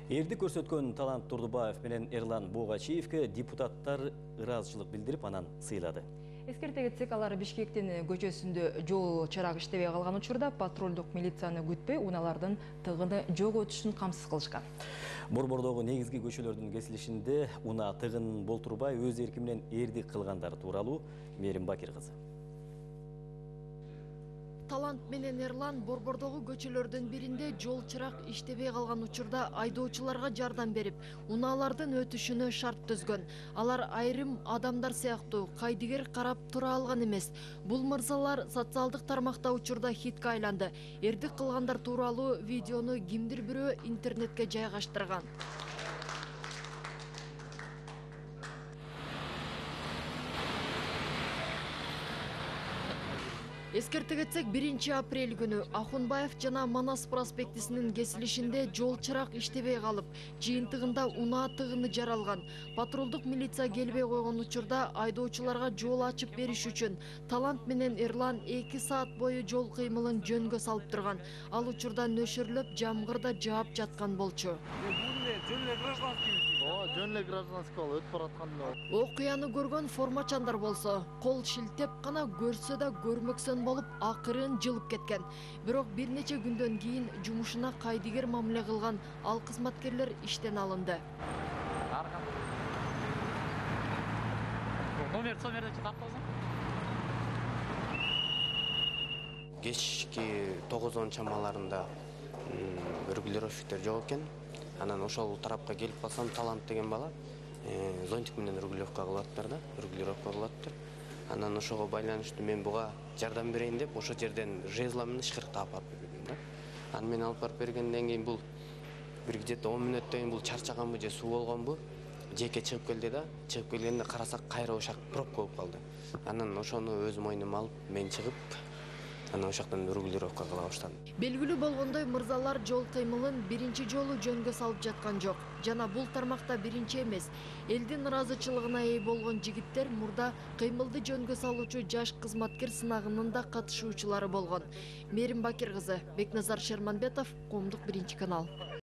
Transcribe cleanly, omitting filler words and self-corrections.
Эрди көрсөткөн Талант Турдубаев менен Эрлан Бугачиевке депутаттар ыраазычылык билдирип, анан сыйлады. Эскерте кетсек, алар Бишкектин көчөсүндө жол чырак иштебей калган учурда патрулдук милицияны күтпөй, унаалардын тыгыны жок өтүшүн камсыз кылышкан. Борбордогу негизги көчөлөрдүн кесилишинде унаа тыгынын болтурбай өз эрки менен эрдик кылгандар тууралуу Мерим Бакир кызы. Талант менен Эрлан Борбордогу көчөлөрдүн биринде жол чырак иштебей калган учурда айдоочуларга жардам берип, унаалардын өтүшүнө шарт түзгөн. Алар айрым адамдар сыяктуу кайдыгер карап тура алган эмес. Бул мырзалар социалдык тармакта учурда хитке айланды. Эрдик кылгандар тууралуу видеону кимдир бирөө интернетке жайгаштырган. Эскерте кетсек, 1 апрель күнү Ахунбаев жана Манас проспектисинин кесилишинде жол чырак иштебей калып, жыйынтыгында унаа тыгыны жаралган. Патрулдук милиция келбей койгон учурда айдоочуларга жол ачып бериш үчүн Талант менен Эрлан 2 саат бою жол кыймылын жөнгө салып турган. Ал учурда нөшөрлөп жамгырда жаап жаткан болчу. Жөн эле гражданский өтүп баратканда. Окуяны көргөн формачандар болсо, кол шилтеп гана көрсө да көрмөксөн болуп, акырын жылып кеткен. Бирок бир нече күндөн кийин жумушуна кайдыгер мамиле кылган ал кызматкерлер иштен алынды. Номерди тартпасаң. Кечки 9 чамаларында регулировщиктер жок экен. Анан ошол тарапка келип калсам, Талант деген бала зонтик менен регулировка кылаттыр да, регулировка кылаттыр. Анан ошого байланыштуу мен буга жардам берейин деп, ошо жерден жезла менен шкырктап алып бердим да. Анан мен алып барып бергенден кийин бул бир где-то 10 мүнөттөн кийин бул чарчаганбы же суу болгонбу, жеке чыгып келди да, чыгып келгенде карасак кайра ошак пробка болуп калды. Анан ошону өз мойнума алып, мен чыгып, анан ошоктон регулировка кыла баштадым. Белгилүү болгондой, мырзалар жол кыймылын биринчи жолу жөнгө салып жаткан жок. Жана бул тармакта биринчи эмес. Элдин ыраазычылыгына ээ болгон жигиттер мурда кыймылды жөнгө салуучу жаш кызматкер сынагынын да катышуучулары болгон. Мерим Бакир кызы, Бекназар Шерманбетов, Коомдук 1 канал.